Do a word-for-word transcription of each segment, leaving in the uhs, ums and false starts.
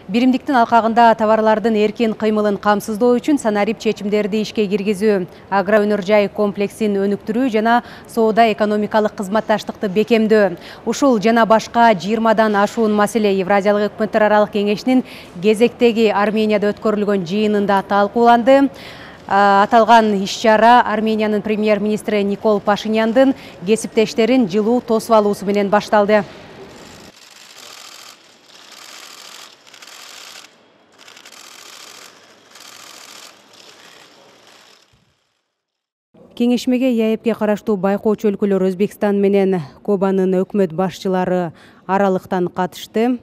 Биримдиктин алкагында товарлардын эркин кыймылын камсыздоо үчүн санарип чечимдерди ишке киргизүү, агроөнөр жай комплексин өнүктүрүү жана соода экономикалык кызматташтыкты бекемдөө. Ушул жана башка жыйырмадан ашуун маселе Евразиялык өкмөттөр аралык кеңешинин кезектеги Арменияда өткөрүлгөн жыйынында талкууланды. Аталган иш-чара Армениянын премьер-министри Никол Пашиняндын кесиптештерин жылуу тосуп алуусу менен башталды. Кеңешмеге ЕАЭПке караштуу байкоочу өлкөлөр Өзбекстан менен Кубанын өкмөт башчылары аралыктан катышты.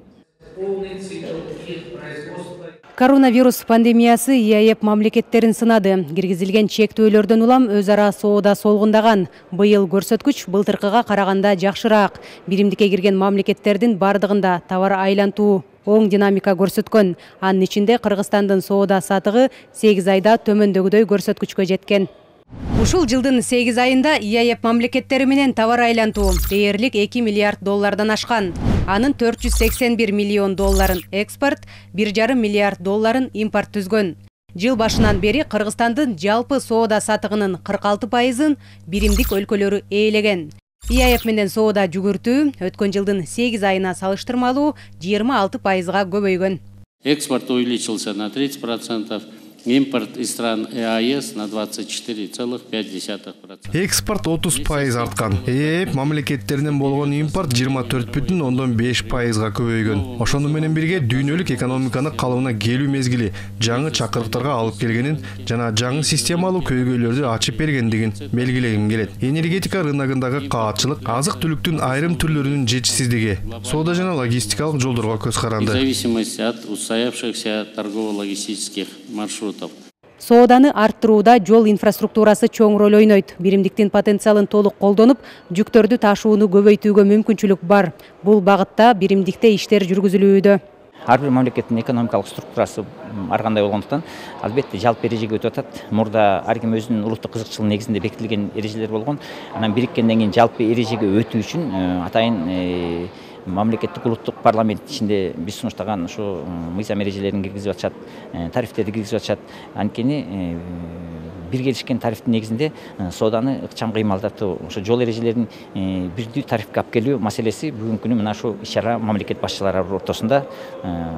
Коронавирус пандемиясы ЕАЭП мамлекеттерин сынады. Киргизилген чектөөлөрдөн улам өз ара соода солгундаган. Быйыл көрсөткүч былтыркыга караганда жакшыраак. Биримдикке кирген мамлекеттердин бардыгында товар айлантуу оң динамика көрсөткөн. Анын ичинде Кыргызстандын соода сатыгы сегиз айда төмөндөгүдөй көрсөткүчкө жеткен. Ушул жылдын сегиз айында ЕАЭП мамлекеттери менен товар айлантуу дээрлик эки миллиард доллардан ашкан. Анын төрт жүз сексен бир миллион долларын экспорт, бир жарым миллиард долларын импорт түзгөн. Жыл башынан бери Кыргызстандын жалпы соода сатыгынын кырк алты пайызын биримдик өлкөлөрү ээлеген. ЕАЭП менен соода жүгүртүү өткөн жылдын сегиз айына салыштырмалуу жыйырма алты пайызга көбөйгөн. Экспорт увеличился на тридцать процентов. Импорт из стран ЕАЭС на двадцать четыре целых пять десятых процента. Экспорт отуз пайыз арткан. ЕАЭП мамлекеттеринен болгон импорт жыйырма төрт бүтүн ондон беш пайызга көбөйгөн. Ошону менен бирге дүйнөлүк экономиканы калыбына келүү мезгили жаңы чакырыктарга алып келгенин жана жаңы системалуу көйгөйлөрдү ачып бергендигин белгилегим келет. Энергетика рыногундагы каатчылык, азык-түлүктүн айрым түрлөрүнүн жетишсиздиги, соода жана логистикалык жолдорго көз каранды. В зависимости от устоявшихся торгово-логистических маршрутов. Сооданы арттырууда жол инфраструктурасы чоң роль ойнойт. Биримдиктин потенциалын толук колдонуп, жүктөрдү ташууну көбөйтүүгө мүмкүнчүлүк бар. Бул багытта биримдикте иштер жүргүзүлүүдө. Ар бир мамлекеттин экономикалык структурасы ар кандай болгондуктан, албетте жалпы эрежеге өтүп атат. Мурда ар ким өзүнүн улуттук кызыкчылыгы негизинде бекитилген эрежелер болгон. Анан бириткенден кийин жалпы эрежеге өтүү үчүн атайын мамлекеттик улуттук парламент ичинде биз сунуштаган ушу мыйзам эрежелерин киргизип атышат, тарифтерди киргизип атышат. Анткени бир келишкен тарифтин негизинде сооданы ыкчам кыймылдатуу, ошо жол эрежелерин бирдүү тарифке алып келүү маселеси бүгүнкү күнү мына ушу иш-чара мамлекет башчылары ортосунда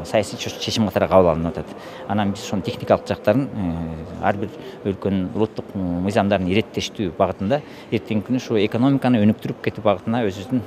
саясий чечим катары кабыл алынып атат. Анан биз ошонун техникалык жактарын ар бир өлкөнүн улуттук мыйзамдарын иреттештүү багытында эртеңки күнү ушу экономиканы өнүктүрүп кетүү багытына өзүбүздүн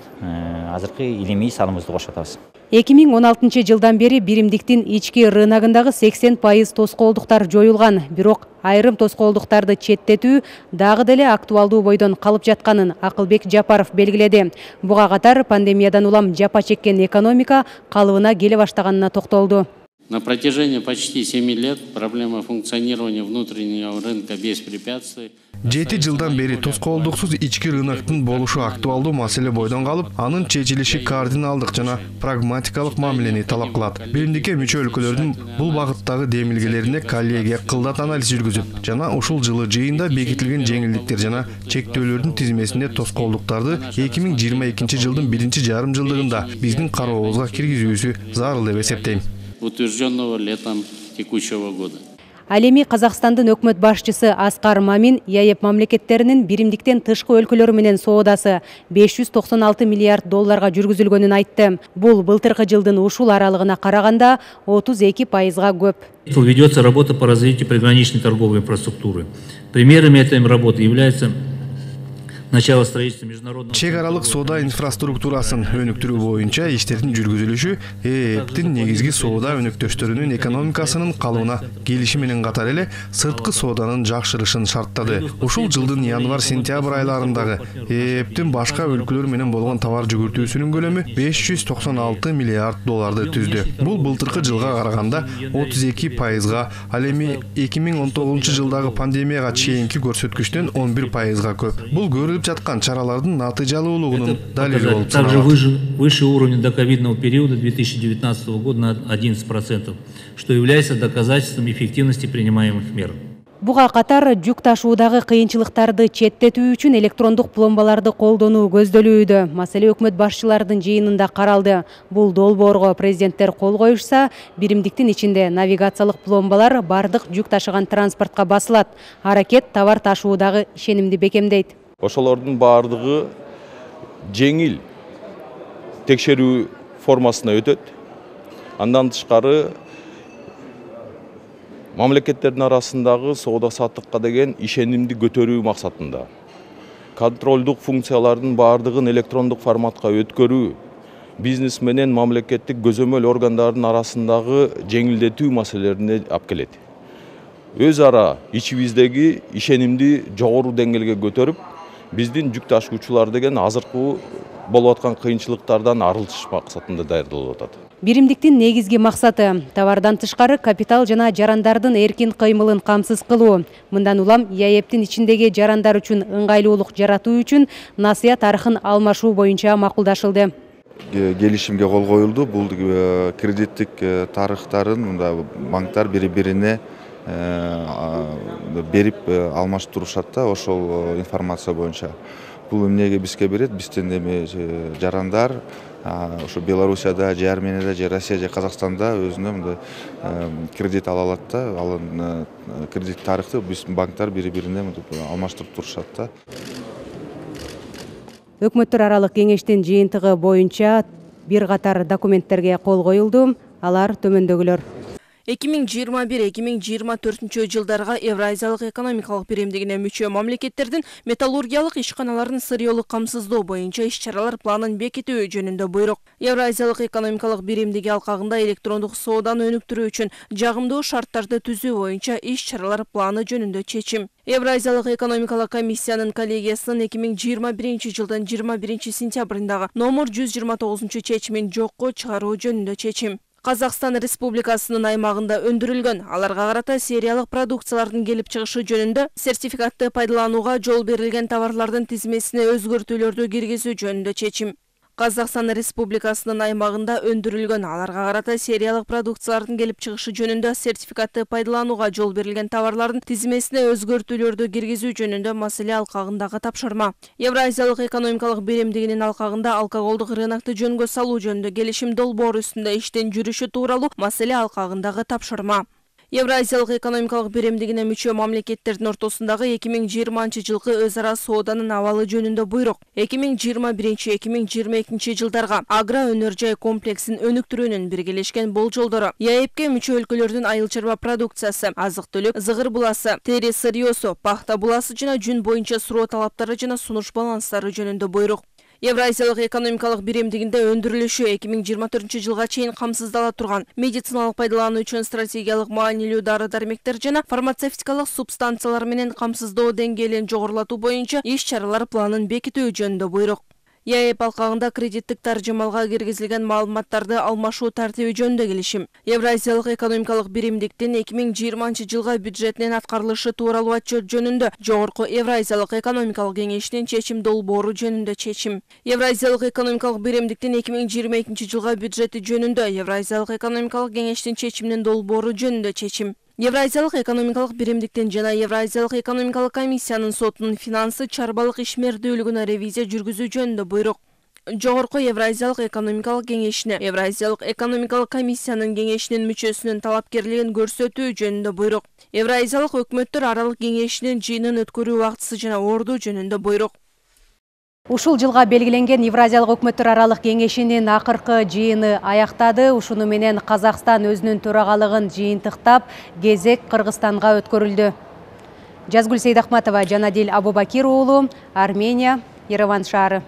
азыркы илимий салымыбызды кошуп атабыз. эки миң он алтынчы жылдан бери биримдиктин ички рыногундагы сексен пайыз тоскоолдуктар жоюлган, бирок айрым тоскоолдуктарды четтетүү дагы деле актуалдуу бойдон калып жатканын Акылбек Жапаров белгиледи. Буга катар пандемиядан улам жапа чеккен экономика калыбына келе баштаганына токтолду. На протяжении почти семи лет проблема функционирования внутреннего рынка без препятствий. Жети жылдан бери тоскоолдуксуз ички рыноктун болушу актуалдуу маселе бойдон калып, анын чечилиши кардиналдык жана прагматикалык мамилени талап кылат. Биримдикке мүчө өлкөлөрдүн бул багыттагы демилгелерине коллегия кылдат анализ жүргүзүп, жана ушул жылы жыйында бекитилген жеңилдиктер жана чектөөлөрдүн тизмесинде тоскоолдуктарды эки миң жыйырма экинчи жылдын биринчи жарым жылдыгында биздин карообузга киргизүүсү зарыл деп эсептейм. Утвержденного летом текущего года. Ал эми Казакстандын өкмөт башчысы Аскар Мамин ЕАЭП мамлекеттеринин биримдиктен тышкы өлкөлөр менен соодасы беш жүз токсон алты миллиард долларга жүргүзүлгөнүн айтты. Бул былтыркы жылдын ушул аралыгына караганда отуз эки пайызга көп. Ведется работа по развитию приграничной торговой инфраструктуры. Примерами этой работы являются начало строительства международного чек аралык соода инфраструктурасын өнүктүрүү боюнча иштердин жүргүзүлүшү ЕАЭПтин негизги соода өнөктөштөрүнүн экономикасынын калыбына келиши менен катар эле сырткы сооданын жакшырышын шарттады. Ушул жылдын январь-сентябрь айларындагы ЕАЭПтин башка өлкөлөр менен болгон товар жүгүртүүсүнүн көлөмү беш жүз токсон алты миллиард долларды түздү. Бул былтыркы жылга караганда отуз эки пайызга, ал эми эки миң он тогузунчу жылдагы пандемияга чейинки көрсөткүчтөн он бир пайызга көп. Бул көрүлүп жаткан чаралардын натыйжалуулугунун далили болуп саналат. Также выше уровня доковидного периода две тысячи девятнадцатого года на одиннадцать процентов, что является доказательством эффективности принимаемых мер. Буга катар жүк ташуудагы кыйынчылыктарды четтетүү үчүн электрондук пломбаларды колдонуу көздөлүүдө. Маселе өкмөт башчыларынын жыйынында каралды. Бул долбоорго президенттер кол коюшса, биримдиктин ичинде навигациялык пломбалар бардык жүк ташыган транспортко басылат. Аракет товар ташуудагы ишенимди бекемдейт. Ошолордун бардыгы жеңил текшерүү формасына өтөт. Андан тышкары мамлекеттердин арасындагы соода саттыкка деген ишенимди көтөрүү максатында контролдук функциялардын бардыгын электрондук форматка өткөрүү, бизнес менен мамлекеттик көзөмөл органдардын арасындагы жеңилдетүү маселелерине алып келет. Өз ара ичибиздеги ишенимди жогору деңгээлге көтөрүп, биздин жүк ташуучулар деген азыркы болуп аткан кыйынчылыктардан арылтыш максатында даярдалып атат. Биримдиктин негизги максаты товардан тышкары капитал жана жарандардын эркин кыймылын камсыз кылуу. Мындан улам ЯЭПтин ичиндеги жарандар үчүн ыңгайлуулук жаратуу үчүн насыя тарыхын алмашуу боюнча макулдашылды. Келишимге кол коюлду. Бул кредиттик тарыхтарын мында банктар бири-бирине берип алмаштырышат да, ошол информация боюнча. Бул эмнеге бизге берет? Биздин эми жарандар ошо Белоруссияда, же Арменияда, же Россия, же Казакстанда өзүнө мындай кредит ала алат да, ал кредит тарыхты биздин банктар бири-бирине алмаштырып турушат да. Өкмөттөр аралык кеңештин жыйынтыгы боюнча бир катар документтерге кол коюлду. Алар төмөндөгүлөр. эки миң жыйырма бир эки миң жыйырма төртүнчү жылдарга Евразиялык экономикалык биримдигине мүчө мамлекеттердин металлургиялык ишканаларын сырьёлук камсыздоо боюнча иш-чаралар планын бекитүү жөнүндө буйрук. Евразиялык экономикалык биримдиги алкагында электрондук сооданы өнүктүрүү үчүн жагымдуу шарттарды түзүү боюнча иш-чаралар планы жөнүндө чечим. Евразиялык экономикалык комиссиянын коллегиясынын эки миң жыйырма биринчи жылдын жыйырма биринчи сентябрындагы номер жүз жыйырма тогузунчу чечимин жокко чыгаруу жөнүндө чечим. Казакстан Республикасынын аймагында өндүрүлгөн, аларга карата сериялык продукциялардын келип чыгышы жөнүндө сертификатты пайдаланууга жол берилген товарлардын тизмесине өзгөртүүлөрдү киргизүү жөнүндө чечим. Казакстан Республикасынын аймагында өндүрүлгөн, аларга карата сериялык продукциялардын келип чыгышы жөнүндө сертификатты пайдаланууга жол берилген товарлардын тизмесине өзгөртүүлөрдү киргизүү жөнүндө маселе алкагындагы тапшырма. Евразиялык экономикалык биримдигинин алкагында алкоголдук рынокты жөнгө салуу жөнүндө келишим долбоору үстүндө иштен жүрүшү тууралуу маселе алкагындагы тапшырма. Евразиялык экономикалык биримдигине мүчө мамлекеттердин ортосундагы эки миң жыйырманчы жылкы өз ара сооданын абалы жөнүндө буйрук. эки миң жыйырма биринчи эки миң жыйырма экинчи жылдарга агро өнөр жай комплексин өнүктүрүүнүн биргелешкен болжолдору, ЯЭПке мүчө өлкөлөрдүн айыл чарба продукциясы, азык-түлүк, зыгыр буласы, тери сырьёсу, пахта буласы жана жүн боюнча суроо талаптары жана сунуш баланстары жөнүндө буйрук. Евразиялык экономикалык биримдигинде өндүрүлүшү эки миң жыйырма төртүнчү жылга чейин камсыздала турган медициналык пайдалануу үчүн стратегиялык маанилүү дары-дармектер жана фармацевтикалык субстанциялар менен камсыздоо деңгээлин жогорулатуу боюнча иш-чаралар планын бекитүү жөнүндө буйрук. ЯЭП алкагында кредиттик таржымалга киргизилген маалыматтарды алмашуу тартиби жөнүндө келишим. Евразиялык экономикалык биримдиктин эки миң жыйырманчы жылга бюджетинин аткарылышы тууралуу отчет жөнүндө Жогорку Евразиялык экономикалык кеңешинин чечим долбоору жөнүндө чечим. Евразиялык экономикалык биримдиктин эки миң жыйырма экинчи жылга бюджети жөнүндө Евразиялык экономикалык кеңештин чечиминин долбоору жөнүндө чечим. Евразиялык экономикалык биримдиктин жана Евразиялык экономикалык комиссиянын сотунун финансы чарбалык ишмердүүлүгүнө ревизия жүргүзүү жөнүндө буйрук. Жогорку Евразиялык экономикалык кеңешине Евразиялык экономикалык комиссиянын кеңешинин мүчөсүнүн талапкерлигин көрсөтүү жөнүндө буйрук. Евразиялык өкмөттөр аралык кеңешинин жыйынын өткөрүү убактысы жана орду жөнүндө буйрук. Ушул жылга белгиленген Евразиялык өкмөттөр аралык кеңешинин акыркы жыйыны аяктады. Ушуну менен Казакстан өзүнүн төрагалыгын жыйынтыктап, кезек Кыргызстанга өткөрүлдү. Жазгүл Сейдахматова, Жанадил Абубакир уулу, Армения, Ереван шаары.